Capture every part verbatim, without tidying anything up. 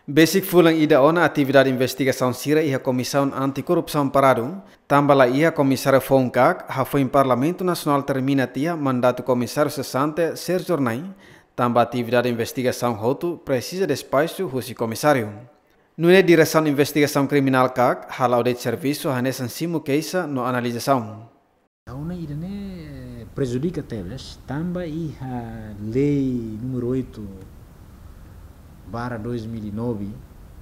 Besik fulan ida ona atividade investigasaun sira iha Komisaun Anti-Korrupsaun paradu, tanba la iha komisáriu foun-kaak, hafoin Parlamentu Nasionál termina tiha mandatu komisáriu sesante Sérgio Hornai, tanba atividade investigasaun hotu presiza despaxu husi komisáriu. Nune'e Diresaun Investigasaun Kriminál kaak hala'o de'it servisu hanesan simu keixa no analizasaun. Ha'u hanoin ida-ne'e prejudika tebes, tanba iha lei númeru oito barra dois mil e nove,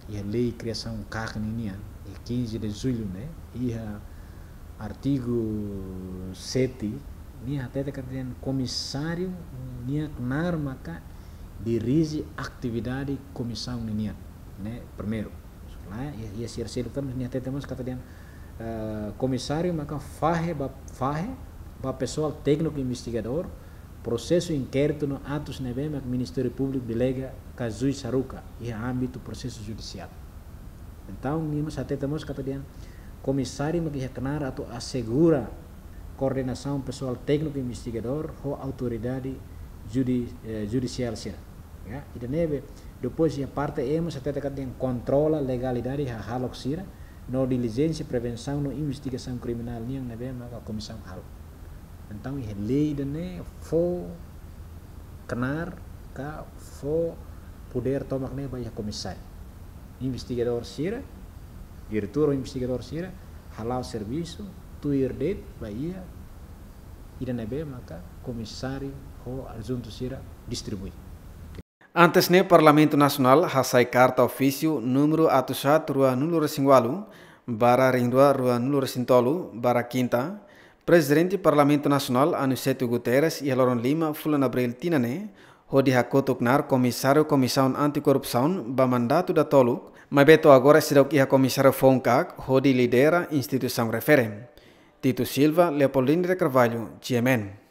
iha lei kriasaun kaak ninian, iha quinze de julho ne'e, iha artigu sete, nia hatete katak dehan komisáriu nia knaar maka dirije atividade komisaun ninian, ne'e primeiru. Lae, iha, iha sira seluk tan, nia hatete mós katak dehan, eh, komisáriu maka fahe ba, fahe ba pesoál tékniku investigadór prosesu inkéritu no atus ne'ebé mak Ministériu Públiku delega ka juís haruka iha ámbitu prosesu judisiál. Entaun, nia mós hatete mós katak dehan komisáriu mak iha knaar atu asegura koordenasaun pesoál tékniku investigadór ho autoridade judi-, eh, judisiál sira. Ya, ida-ne'ebé, depois iha parte E mós hatete katak dehan kontrola legalidade hahalok sira, no dilijénsia prevensaun no investigasaun kriminál nian ne'ebé maka komisaun halo. Entaun, iha lei ida-ne'e fó knaar ka fó podér tomak ne'e ba iha komisáriu. Investigadór sira, diretór investigadór sira, hala'o servisu, tuir de'it ba iha ida-ne'ebé maka komisáriu ho adjuntu sira distribui. Antes ne'e Parlamentu Nasionál hasai karta ofísiu númeru atus haat rua-nulu resin ualu, barra rihun rua rua-nulu-resin-tolu, barra kinta, Prezidente Parlamentu Nasionál Aniceto Guterres iha loron lima fulan Abríl tinan ne'e, hodi hakotu knaar komisáriu Komisaun Anti-Korrupsaun ba mandatu datoluk, maibé to'o agora seidauk iha komisáriu foun-kaak hodi lidera instituisaun refere. Tito Silva, Leopoldine de Carvalho, G M N.